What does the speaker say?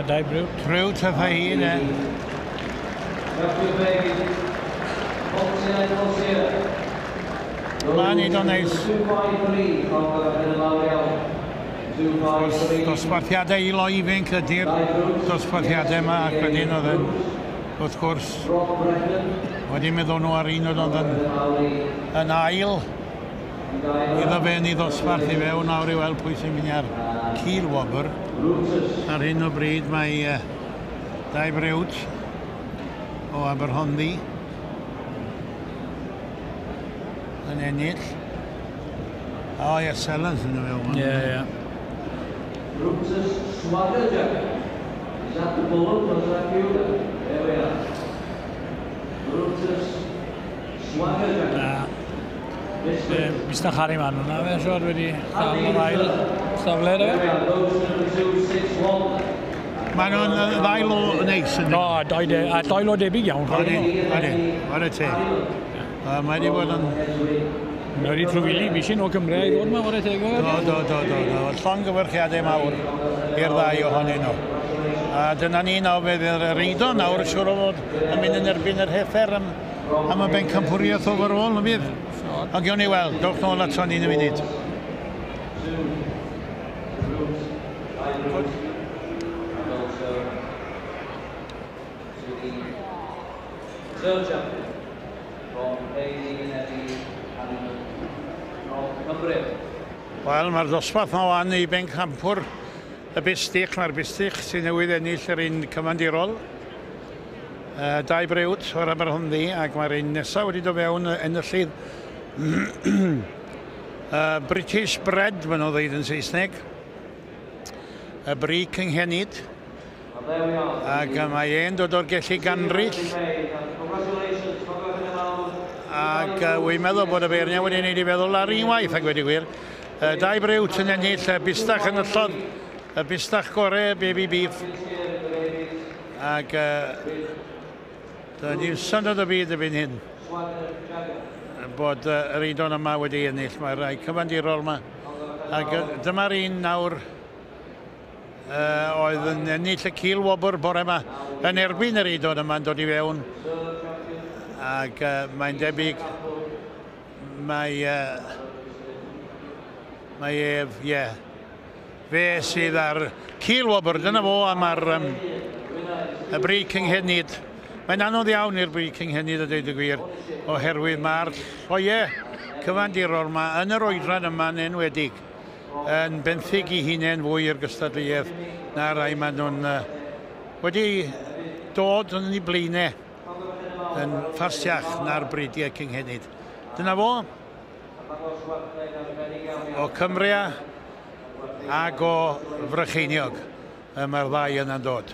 Dai Briwt. Briwt a Faheen, e. Mae'n neud o'n neis. Wrth gwrs, dosbarthiadau i loi ifanc ydy'r dosbarthiadau yma, ac wedyn oedd yn, wrth gwrs, wedi meddwl nhw ar un oedd yn, yn ail iddo fe yn ei ddosbarth i fewn nawr i weld pwy sy'n mynd ar cil wobr. Ar hyn o bryd mae Dai Briwt o Aberhonddu yn ennill. O, ie, Sellers yn y fewn. Ie, ie. Brutus Swagger Jack. Is that the bullet or is that you? There we are. Brutus Swagger Jack. Na. Mr Harry Man hwnna, fe siwr wedi cael yr ail safle, There de. we are, those number 261. Maen nhw'n ddau lo neis yn O, doi de, a doi lo debyg iawn. Odyn, odyn, whare teg. Mae wedi bod yn... Mae wedi trwyfili, fi o Cymru i ddod yma, whare teg. Do, do, do, do, do. Llongyfarchiadau mawr i'r ddau ohonyn nhw. A dyna ni nawr, fe fydd yr eido nawr, siŵr o fod yn mynd yn erbyn yr heffer am y bencampwriaeth overall, yn fydd? Ond gewn ni weld, dowch nôl ato ni yn y munud. And also to the third champion from Bailey Eddie Hanneman from Cumbria. Wel, mae'r dosbarth yma wan i bencampwr y bistych. Mae'r bistych sy'n newydd ennill yr un cyfandirol. Dau Briwt o'r Aberhonddu, ac mae'r un nesaf wedi dod fewn enillydd British Bred, maen nhw'n dweud yn Saesneg. Y bri cynghenid. And there we are. Ac mae e'n dod o'r Gelli Ganrill. Congratulations, congratulations. Ac wy'n meddwl bod y beirniad wedi gwneud i feddwl ar unwaith, ac wedi gwir. Dau Briwt yn ennill, y bistach yn yllodd, y bistach gore, baby beef. Ac dyna ni'n syndod o byd erbyn hyn bod yr eidon yma wedi ennill. Mae'r rhai cyfandirol yma. Ac dyma'r un nawr oedd yn ennill y cil wobr bore yma yn erbyn yr eidon yma'n dod i fewn. Ac mae'n debyg mae ef, ie, fe sydd ar cil wobr, dyna fo am ar y bri cynghenid. Mae'n anodd iawn i'r bri cynghenid a dweud y gwir, oherwydd mae'r lloiau cyfandirol yma yn yr oedran yma'n enwedig yn benthyg i hunain fwy i'r gystadleuaeth na rai maen nhw'n wedi dod yn ei blaenau yn ffastiach na'r bridiau cynghenid. Dyna fo, o Cymru ac o Frycheiniog, mae'r ddau yna'n dod.